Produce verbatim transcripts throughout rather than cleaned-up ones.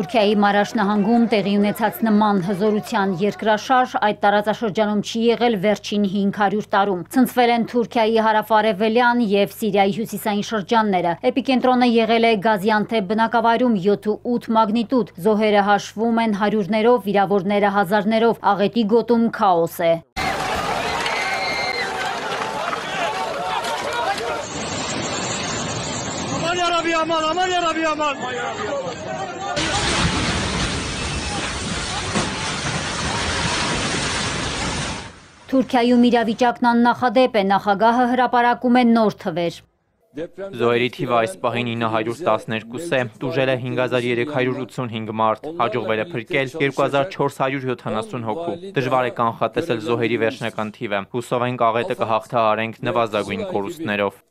Թուրքիայի Մարաշ նահանգում տեղի ունեցած նման հզորության երկրաշարժ այդ տարածաշրջանում չի եղել վերջին հինգ հարյուր տարում։ Ցնցվել են Թուրքիայի հարավարևելյան եւ Սիրիայի հյուսիսային շրջանները։ Էպիկենտրոնը եղել է Գազիանթեփ բնակավայրում յոթ ու ութ մագնիտուդ։ Զոհերը հաշվում են հարյուրներով, վիրավորները հազարներով։ Աղետի գոտում քաոս է։ Aman aman ya Rabbi aman. Թուրքիայում իրավիճակն աննախադեպ է, նախագահը հրապարակում է նոր թվեր։ Զոհերի թիվը այս պահին ինը հարյուր տասներկու է, տուժել է հինգ հազար երեք հարյուր ութսունհինգ մարդ, հաջողվել է փրկել երկու հազար չորս հարյուր յոթանասուն հոգու։ Դժվար է կանխատեսել զոհերի վերջնական թիվը։ Հուսով ենք աղետը կհաղթահարենք նվազագույն կորուստներով։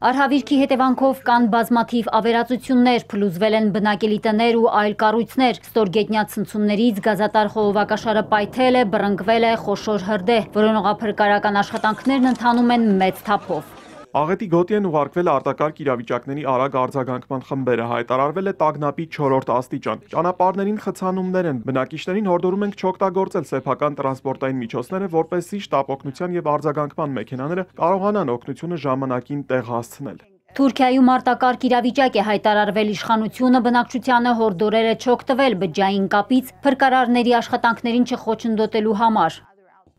Արհավիրքի հետևանքով կան բազմաթիվ ավերածություններ, փլուզվել են բնակելի տներ ու այլ կառույցներ։ Ստորգետնյա ցնցումներից գազատար խողովակաշարը պայթել է, բռնկվել է խոշոր հրդեհ։ Որոնողափրկարական աշխատանքներն ընթանում են մեծ թափով։ Աղետի գոտի են ուղարկվել արտակարգ իրավիճակների արագ արձագանքման խմբերը, հայտարարվել է տագնապի չորրորդ աստիճան։ Ճանապարհներին խցանումներ են, բնակիչներին հորդորում ենք չօգտագործել սեփական տրանսպորտային միջոցները, որպեսզի շտապօգնության եւ արձագանքման մեքենաները կարողանան օգնությունը ժամանակին տեղ հասցնել։ Թուրքիայում արտակարգ իրավիճակ է հայտարարվել, իշխանությունը բնակչությանը հորդորել է չօգտվել բջջային կապից փրկարարների աշխատանքներին չխոչընդոտելու համար։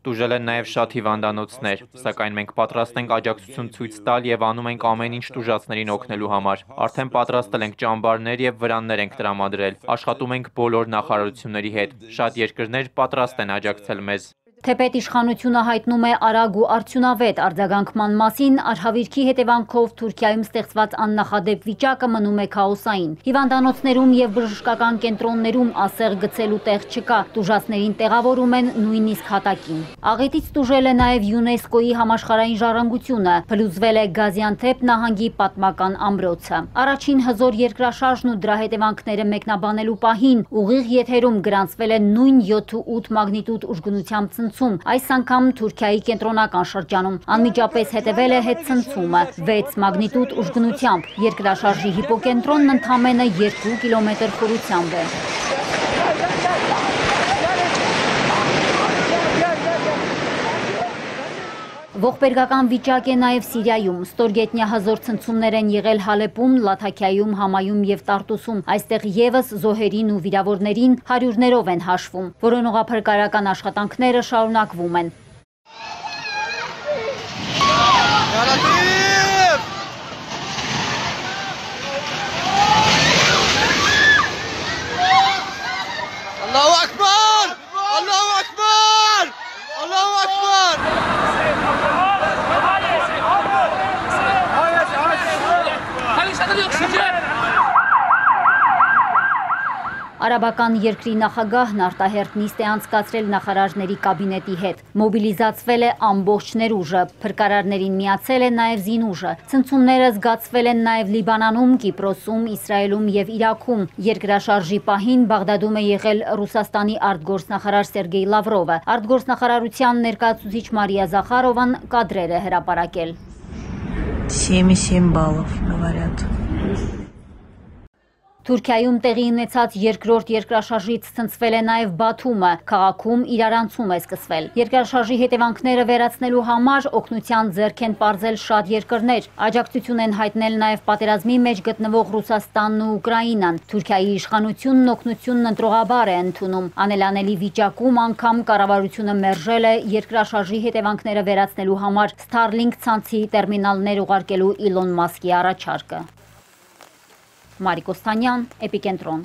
Տուժել են նաև շատ հիվանդանոցներ, սակայն մենք պատրաստ ենք աջակցություն ցույց տալ եւ անում ենք ամեն ինչ տուժածներին օգնելու համար։ Արդեն պատրաստել ենք ճամբարներ եւ վրաններ ենք տրամադրել։ Աշխատում ենք բոլոր նախարարությունների հետ։ Շատ երկրներ պատրաստ են աջակցել մեզ։ Թեպետ իշխանությունը հայտնում է արագ ու արդյունավետ արձագանքման մասին, արհավիրքի հետևանքով Թուրքիայում ստեղծված աննախադեպ վիճակը մնում է քաոսային։ Հիվանդանոցներում եւ բժշկական կենտրոններում ասեղ գցելու տեղ չկա, տուժածներին տեղավորում են նույնիսկ հատակին։ Աղետից տուժել է նաեւ ՅՈՒՆԵՍԿՕ-ի համաշխարհային ժառանգությունը, փլուզվել է Գազիանթեփ նահանգի պատմական ամրոցը։ Առաջին հզոր երկրաշարժն ու դրա հետևանքները մեկնաբանելու պահին ուղիղ եթերում գրանցվել է նույն յոթ ու ութ մագնիտուդ ուժգնությամբ այս անգամ Թուրքիայի կենտրոնական շրջանում անմիջապես հետևել է հետցնցումը վեց մագնիտուդ ուժգնությամբ։ Երկրաշարժի հիպոկենտրոնն ընդամենը երկու կիլոմետր խորությամբ է։ Ողբերգական վիճակ է նաև Սիրիայում։ Ստորգետնյա հզոր ցնցումներ են եղել Հալեպում, Լաթաքիայում, Համայում եւ Տարտուսում։ Այստեղ եւս զոհերին ու վիրավորներին հարյուրներով են հաշվում։ Որոնողափրկարական աշխատանքները շարունակվում են։ Allahu Akbar! Allahu Akbar! Allahu Akbar! Արաբական երկրի նախագահն արտահերթ նիստ է անցկացրել նախարարների կաբինետի հետ։ Մոբիլիզացվել է ամբողջ ներուժը, փրկարարներին միացել է նաև զինուժը։ Ցնցումները զգացվել են նաև Լիբանանում, Կիպրոսում, Իսրայելում եւ Իրաքում։ Երկրաշարժի պահին Բաղդադում է եղել Ռուսաստանի արտգործնախարար Սերգեյ Լավրովը։ Արտգործնախարարության ներկայացուցիչ Մարիա Զախարովան կադրեր է հրապարակել։ семь и семь баллов говорят. Թուրքիայում տեղի ունեցած երկրորդ երկրաշարժից ցնցվել է նաև Բաթումը, քաղաքում իրարանցում է սկսվել։ Երկրաշարժի հետևանքները վերացնելու համար օգնության ձեռք են պարզել շատ երկրներ։ Աջակցություն են հայտնել նաև պատերազմի մեջ գտնվող Ռուսաստանն ու Ուկրաինան։ Թուրքիայի իշխանությունն օգնությունն ընտրողաբար է ընդունում։ Անելանելի վիճակում անգամ կառավարությունը մերժել է երկրաշարժի հետևանքները վերացնելու համար Starlink ցանցի տերմինալներ ուղարկելու Իլոն Մասկի առաջարկը։ Մարիկ Օստանյան, Էպիկենտրոն։